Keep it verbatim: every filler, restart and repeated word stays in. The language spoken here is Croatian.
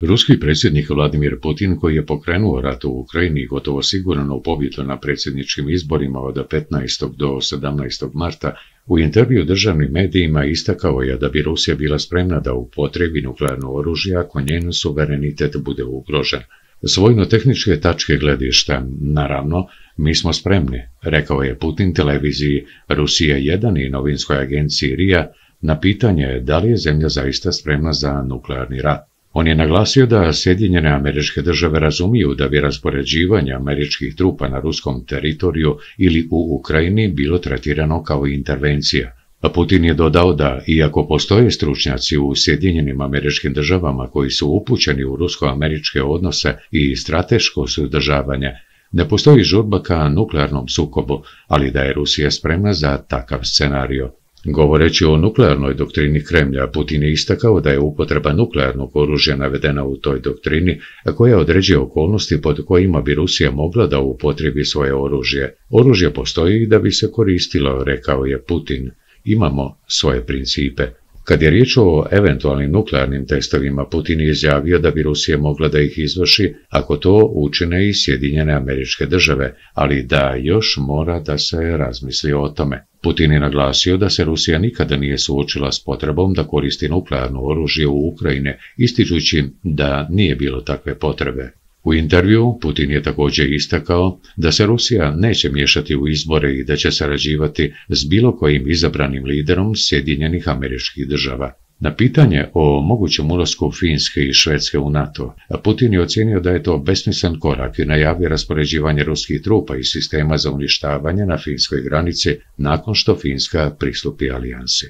Ruski predsjednik Vladimir Putin, koji je pokrenuo rat u Ukrajini gotovo sigurno pobjedu na predsjedničkim izborima od petnaestog do sedamnaestog marta, u intervju državnim medijima istakao je da bi Rusija bila spremna da upotrebi nuklearno oružje ako njen suverenitet bude ugrožen. S vojno-tehničke tačke gledišta, naravno, mi smo spremni, rekao je Putin televiziji Rusija jedan i novinskoj agenciji R I A na pitanje da li je zemlja zaista spremna za nuklearni rat. On je naglasio da Sjedinjene Američke Države razumiju da bi raspoređivanje američkih trupa na ruskom teritoriju ili u Ukrajini bilo tretirano kao intervencija. A Putin je dodao da, iako postoje stručnjaci u Sjedinjenim Američkim Državama koji su upućeni u rusko-američke odnose i strateško suzdržavanje, ne postoji žurba ka nuklearnom sukobu, ali da je Rusija spremna za takav scenario. Govoreći o nuklearnoj doktrini Kremlja, Putin je istakao da je upotreba nuklearnog oružja navedena u toj doktrini, koja određuje okolnosti pod kojima bi Rusija mogla da upotrebi svoje oružje. Oružje postoji da bi se koristilo, rekao je Putin. Imamo svoje principe. Kad je riječ o eventualnim nuklearnim testovima, Putin je izjavio da bi Rusija mogla da ih izvrši ako to učine i Sjedinjene Američke Države, ali da još mora da se razmisli o tome. Putin je naglasio da se Rusija nikada nije suočila s potrebom da koristi nuklearno oružje u Ukrajini, ističući da nije bilo takve potrebe. U intervju Putin je također istakao da se Rusija neće miješati u izbore i da će sarađivati s bilo kojim izabranim liderom Sjedinjenih Američkih Država. Na pitanje o mogućem ulasku Finske i Švedske u NATO, Putin je ocijenio da je to besmislen korak i najavio raspoređivanje ruskih trupa i sistema za uništavanje na finskoj granici nakon što Finska pristupi alijansi.